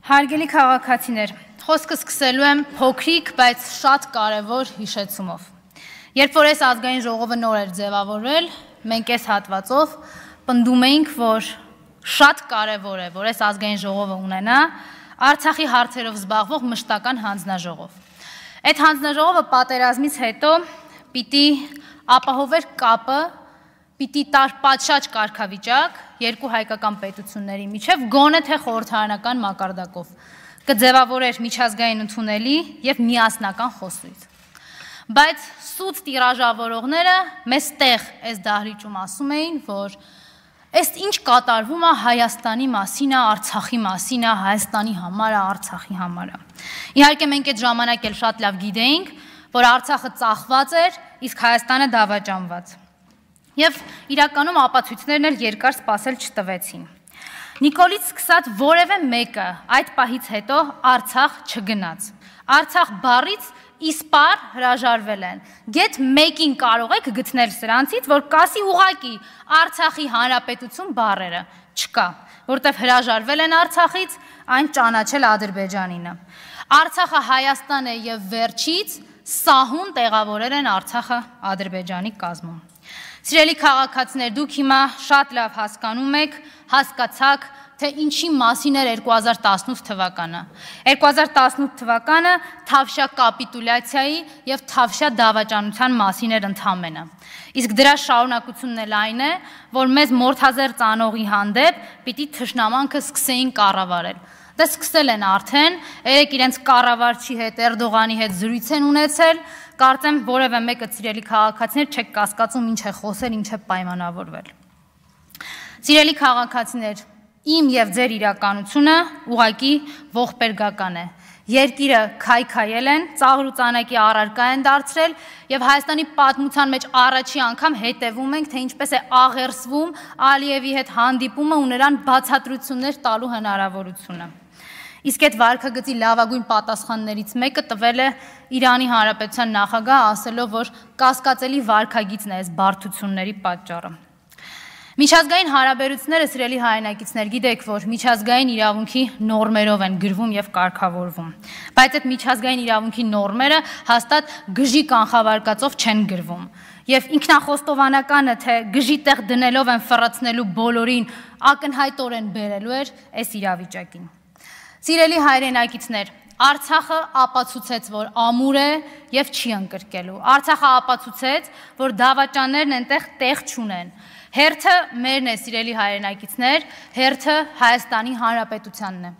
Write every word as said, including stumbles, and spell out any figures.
Հարգելի քաղաքացիներ, խոսքը սկսելու եմ փոքրիկ, բայց շատ կարևոր հիշեցումով։ Երբ որ այս ազգային ժողովը նոր էր ձևավորվել, մենք այս հատվածով պնդում էինք, որ շատ կարևոր է, որ այս ազգային ժողովը ունենա Արցախի հարցերով զբաղվող մշտական հանձնաժողով։ Այդ հանձնաժողովը պատերազմից հետո պիտի ապահովեր կապը, պիտի տար պատշաճ կարգավիճակ երկու հայկական պետությունների միջև գոնե թե խորհրդարանական մակարդակով, կձևավորեր միջազգային ընդունելի եւ միասնական խոսույթ։ Բայց սուտ տիրաժավորողները մեզ տեղ այս դահլիճում ասում էին, որ այս ինչ կատարվում է Հայաստանի մասին է, Արցախի մասին է, Հայաստանի համար է, Արցախի համար է։ Իհարկե մենք այդ ժամանակ էլ շատ լավ գիտեինք, որ Արցախը ծախված էր, իսկ Հայաստանը դավաճանված։ Եվ իրականում ապացույցներն էլ երկար սպասել չտվեցին։ Նիկոլից սկսած որևէ մեկը այդ պահից հետո Արցախ չգնաց։ Արցախ բառից իսպար հրաժարվել են։ Գեթ մեկին կարող եք գտնել սրանցից, որ կասի ուղակի Արցախի հանրապետություն բառերը չկա, որտեղ հրաժարվել են Արցախից, այն ճանաչել Ադրբեջանինը։ Արցախը Հայաստան է եւ վերջից սահուն տեղավորել են Արցախը Ադրբեջանի կազմում։ Սիրելի քաղաքացիներ, դուք հիմա շատ լավ հասկանում եք, հասկացաք, թե ինչի մասին էր երկու հազար տասնութ թվականը։ երկու հազար տասնութ թվականը Թավշյա կապիտուլյացիայի եւ Թավշյա դավաճանության մասին էր ընդամենը։ Իսկ դրա շարունակությունն էլ այն է, որ մեզ մորթազեր ծանողի հանդեպ պիտի թշնամանքը սկսեին կառավարել։ Դա սկսել են արդեն, երեք իրենց կառավարչի հետ, Էրդողանի հետ զրույց են ունեցել, կարծեմ որևէ մեկը սիրելի քաղաքացիներ չեք կասկածում ինչ է խոսել, ինչ է պայմանավորվել։ Սիրելի քաղաքացիներ, իմ եւ ձեր իրականությունը ուղղակի ողբերգական է։ Երկիրը քայքայել են, ծաղր ու ծանակի առարկա են դարձրել եւ Հայաստանի պատմության մեջ առաջի անգամ հետևում ենք, թե ինչպես է աղերսվում Ալիևի հետ հանդիպումը ու նրան բացատրություններ տալու հնարավորությունը։ Իսկ այդ վարքագծի լավագույն պատասխաններից մեկը տվել է Իրանի Հանրապետության նախագահ, ասելով, որ կասկածելի վարքագիծն է այս բարդությունների պատճառը։ Միջազգային հարաբերությունները, սիրելի հայրենակիցներ, գիտեք, որ միջազգային իրավունքի նորմերով են գրվում եւ կարգավորվում, բայց այդ միջազգային իրավունքի նորմերը հաստատ գժի կանխավարկածով չեն գրվում։ Եվ ինքնախոստովանականը, թե գժի տեղ դնելով են ֆռացնելու բոլորին ակնհայտորեն բերելու էր այս իրավիճակին։ Սիրելի հայրենակիցներ, Արցախը ապացուցեց, որ ամուր է եւ չի ընկրկելու։ Արցախը ապացուցեց, որ դավաճաններն այնտեղ տեղ չունեն։ Հերթը մերն է, սիրելի հայրենակիցներ, հերթը Հայաստանի Հանրապետությանն է։